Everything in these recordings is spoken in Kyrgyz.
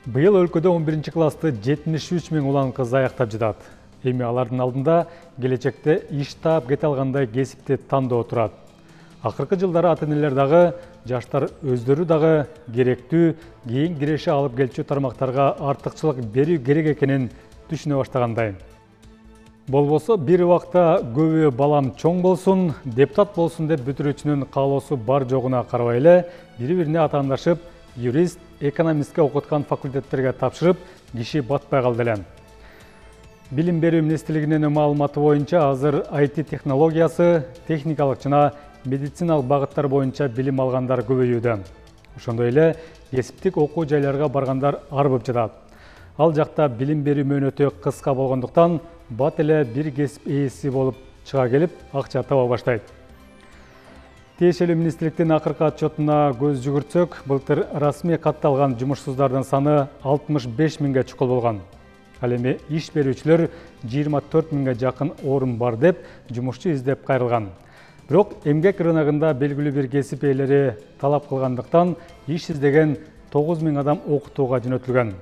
Быйыл өлкөдө 11 классты 73 миң улан кыз аяктап жатат. Эми алардын алдында келечекте иш таап кете алгандай кесипти тандоо турат. Акыркы жылдары ата-энелер дагы, жаштар өздөрү дагы керектүү, кийин киреше алып келчү тармактарга артыкчылык берүү керек экенин түшүнө баштагандай. Болбосо бир убакта көбү балам чоң болсун, депутат болсун деп бүтүрүүчүнүн каалоосу бар жогуна карабай эле, бири-бирине атаандашып, юрист, экономистке окуткан факультеттерге тапшырып, киши батпай калды эле. Билим берүү министрлигинин маалыматы боюнча азыр IT технологиясы, техникалык жана медициналык багыттар боюнча билим алгандар көбөйүүдө. Ошондой эле кесиптик окуу жайларга баргандар арбып жатат. Ал жакта билим берүү мөөнөтү кыска болгондуктан бат эле бир кесип ээси болуп чыга келип, акча таба баштайт. Тиешелүү министрликтин акыркы отчетуна көз жүгүртсөк, былтыр расмий катталган жумушсуздардын саны 65 миңге чукул болгон. Ал эми иш берүүчүлөр 24 миңге жакын орун бар деп жумушчу издеп кайрылган. Бирок эмгек рыногунда белгилүү бир кесип ээлери талап кылгандыктан иш издеген 9 миң адам окутууга жөнөтүлгөн.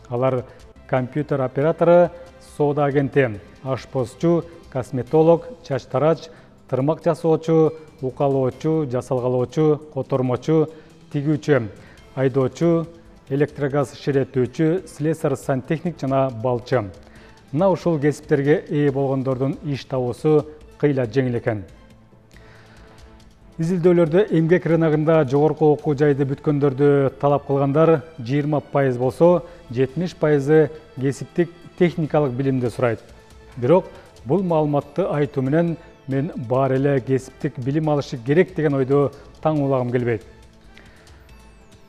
Алар компьютер оператору, соода агенти, ашпозчу, косметолог, чач тарач, тырмак жасоочу, укалоочу, жасалгалоочу, котормочу, тигүүчү, айдоочу, электрогаз ширеттүүчү, слесарь, сантехник жана балчы. Мына ушул кесиптерге ээ болгондордун иш табуусу кыйла жеңил экен. Изилдөөлөрдө эмгек рыногунда жогорку окуу жайды бүткөндөрдү талап кылгандар 20% болсо, 70% кесиптик техникалык билимди сурайт. Бирок бул маалыматты айтуу менен мен баары эле кесиптик билим алышы керек деген ойду таң улагым келбейт.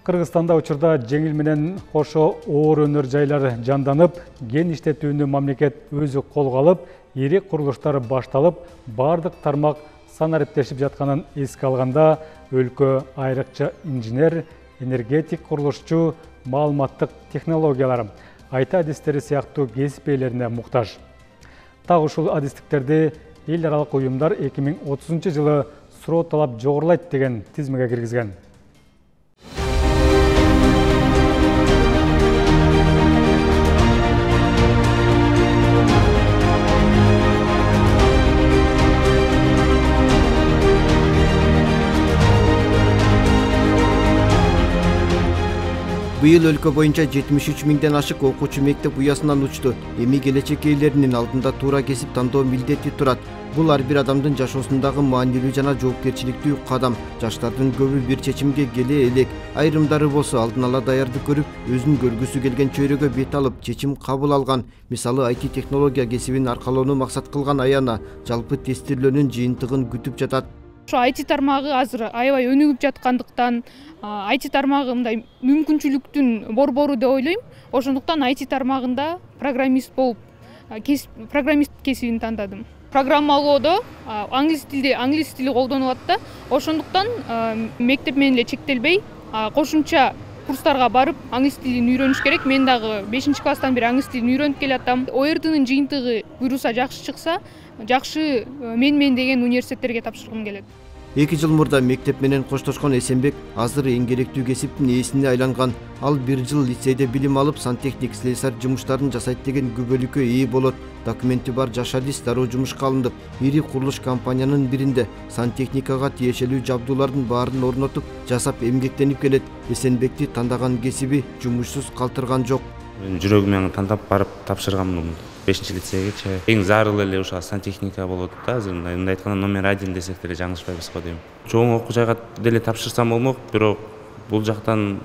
Кыргызстанда учурда жеңил менен кошо оор өнөр жайлар жанданып, ген иштетүүнү мамлекет өзү колго алып, ири курулуштар башталып, бардык тармак санариптешип жатканын эске алганда, өлкө айрыкча инженер, энергетик курулушчу, маалыматтык технологиялар, IT адистери сыяктуу кесип ээлерине муктаж. Так ушул адистиктерди эл аралык уюмдар 2030 жылы суроо талап жогорулайт деген тизмеге киргизген. Быйыл өлкө боюнча 73 миңден ашык окуучу мектеп уясынан учту. Эми келечек ээлеринин алдында туура кесип тандоо милдети турат. Бул ар бир адамдын жашоосундагы маанилүү жана жоопкерчиликтүү кадам. Жаштардын көбү бир чечимге келе элек. Айрымдары болсо алдын ала даярдык көрүп, өзүнүн көргүсү келген чөйрөгө бет алып, чечим кабыл алган. Мисалы IT технология кесибин аркалоону максат кылган Аяна жалпы тестирлөөнүн жыйынтыгын күтүп жатат. Ошо IT тармагы азыр аябай өнүгүп жаткандыктан, IT тармагы мындай мүмкүнчүлүктүн борбору деп ойлойм. Ошондуктан IT тармагында программист болуп, программист кесибин тандадым. Программалоодо англис тили колдонулат да. Ошондуктан мектеп менен эле чектелбей, кошумча курстарга барып, англис тилин үйрөнүш керек. Мен дагы 5-класстан бери англис тилин үйрөнүп келатам. ОРТнын жыйынтыгы буйруса жакшы чыкса, жакшы мен деген университеттерге тапшыргым келет. 2 жыл мурда мектеп менен коштошкон Эсенбек азыр эң керектүү кесиптин ээсине айланган. Ал 1 жыл лицейде билим алып, сантехник, слесарь жумуштарын жасайт деген күбөлүккө ээ болот. Документи бар жаш адис дароо жумушка алынып, ири курулуш компаниянын биринде сантехникага тиешелүү жабдуулардын баарын орнотуп, жасап эмгектенип келет. Эсенбекти тандаган кесиби жумушсуз калтырган жок. Жүрөгүм менен тандап барып тапшыргам 5-лицейгече. Эң зарыл эле ушул сантехника болот да. Азыр мындай айтканда номер 1 десек деле жаңылышпайбыз го дейм. Чоң окуу жайга деле тапшырсам болмок, бирок бул жактан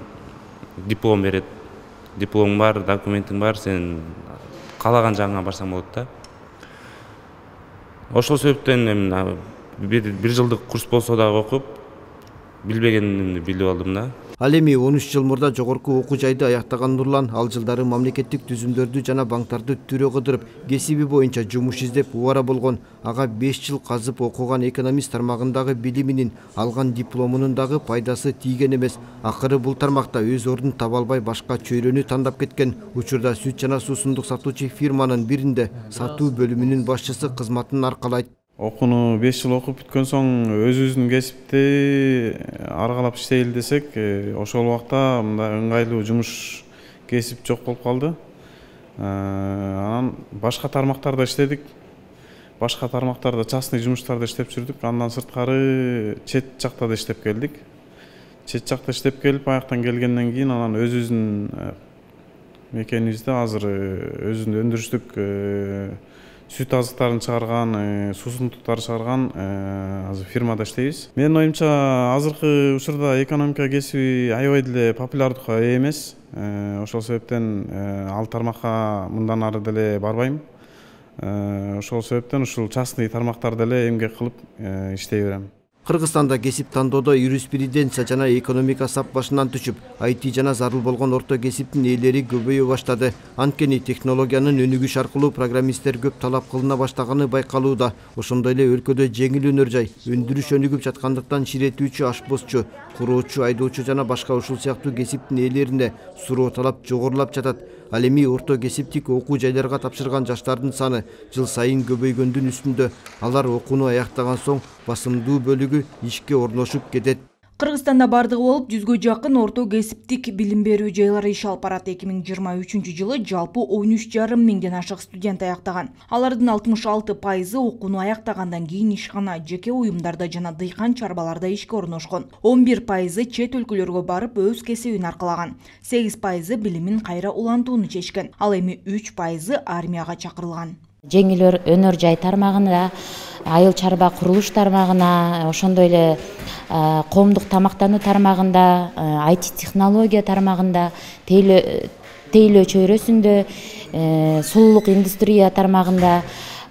диплом берет. Дипломуң бар, документиң бар, сен каалаган жагыңа барсаң болот да. Ошол себептен бир жылдык курс болсо дагы окуп, билбегенимди билип алдым да. Ал эми 13 жыл мурда жогорку окуу жайды аяктаган Нурлан ал жылдары мамлекеттик түзүмдөрдү жана банктарды түрө кыдырып, кесиби боюнча жумуш издеп убара болгон. Ага 5 жыл казып окуган экономист тармагындагы билиминин, алган дипломунун дагы пайдасы тийген эмес. Акыры бул тармакта өз ордун таба албай башка чөйрөнү тандап кеткен. Учурда сүт жана суусундук сатуучу фирманын биринде сатуу бөлүмүнүн башчысы кызматын аркалайт. Окууну 5 жыл окуп бүткөн соң өзүбүздүн кесипти аргалап иштейли десек, ошол убакта мындай ыңгайлуу жумуш кесип жок болуп калды. Анан башка тармактарда иштедик. Башка тармактарда частный жумуштарда иштеп жүрдүк. Андан сырткары чет жакта да иштеп келдик. Чет жакта иштеп келип, аяктан келгенден кийин анан өзүбүздүн мекенибизде азыр өзүнүн өндүрүштүк сүт азыктарын чыгарган, суусундуктарды чыгарган азыр фирмада иштейбиз. Менин оюмча азыркы учурда экономика кесиби аябай деле популярдыкка ээ эмес. Ошол себептен ал тармакка мындан ары деле барбайм. Ошол себептен ушул частный тармактарда эле эмгек кылып иштей берем. Кыргызстанда кесип тандоодо юриспруденция жана экономика сап башынан түшүп, IT жана зарыл болгон орто кесиптин ээлери көбөйө баштады. Анткени технологиянын өнүгүш аркылуу программисттер көп талап кылына баштаганы байкалууда. Ошондой эле өлкөдө жеңил өнөр жай, өндүрүш өнүгүп жаткандыктан ширетүүчү, ашпозчу, куроочу, айдоочу жана башка ушул сыяктуу кесиптин ээлерине суроо талап жогорулап жатат. Ал эми орто кесиптик окуу жайларга тапшырган жаштардын саны жыл сайын көбөйгөндүн үстүндө. Алар окууну аяктаган соң басымдуу бөлүгү ишке орношуп кетет. Кыргызстанда бардыгы болуп 100гө жакын орто кесиптик билим берүү жайлары иш алып барат. 2023 жылы жалпы 13,5 миңден ашык студент аяктаган. Алардын 66% окууну аяктагандан кийин ишкана, жеке уюмдарда жана дыйкан чарбаларда ишке орношкон. 11% чет өлкөлөргө барып өз кесибин аркалаган. 8% билимин кайра улантууну чечкен. Ал эми 3% армияга чакырылган. Жеңил өнөр жай тармагында, айыл чарба курулуш тармагына, ошондой эле коомдук тамактануу тармагында, IT технология тармагында, тейлөө чөйрөсүндө, сулуулук индустрия тармагында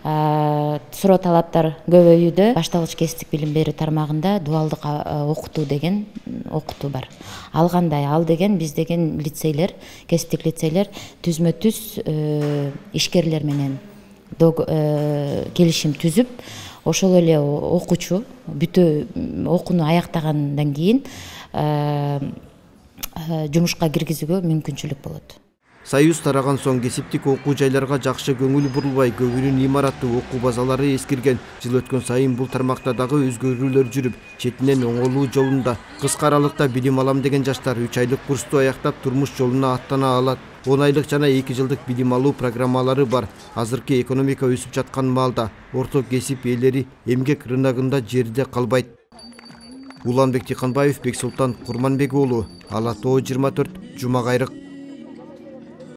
суроо талаптар көбөйүүдө. Башталгыч кесиптик билим берүү тармагында дуалдык окутуу деген окутуу бар. Ал кандай? Ал деген биз деген лицейлер, кесиптик лицейлер түзмө-түз ишкерлер менен келишим түзүп, ошол эле окуучу бүтө окууну аяктагандан кийин жумушка киргизүүгө мүмкүнчүлүк болот. Союз тараган соң кесиптик окуу жайларга жакшы көңүл бурулбай, көбүнүн имараттуу окуу базалары эскирген. Жыл өткөн сайын бул тармакта дагы өзгөрүүлөр жүрүп, четинен оңолуу жолунда кыска аралыкта билим алам деген жаштар 3 айлык курсту аяктап турмуш жолуна аттана алат. 10 айлык жана 2 жылдык билим алуу программалары бар. Азыркы экономика өсүп жаткан маалда орто кесип ээлери эмгек рыногунда жерде калбайт. Уланбек Тиканбаев, Бексултан Курманбек уулу, Ала Тоо 24, Жума Кайрык.